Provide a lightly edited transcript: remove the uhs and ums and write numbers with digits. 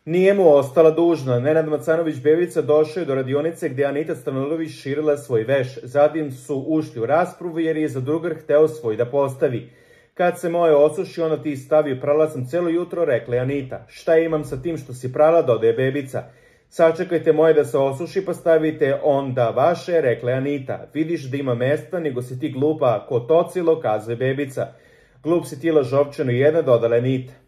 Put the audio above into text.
Nije mu ostala dužna. Nenad Macanović-Bevica došao je do radionice gdje Anita Stanojević širila svoj veš. Zatim su ušli u raspravu jer je zadrugar hteo svoj da postavi. Kad se moje osuši, ono ti stavio, prala sam celo jutro, rekla je Anita. Šta imam sa tim što si prala, dodaje Bebica. Sačekajte moje da se osuši pa stavite onda vaše, rekla je Anita. Vidiš da ima mesta, nego si ti glupa ko tocilo, kazuje Bebica. Glup si ti lažovčano jedna, dodala Anita.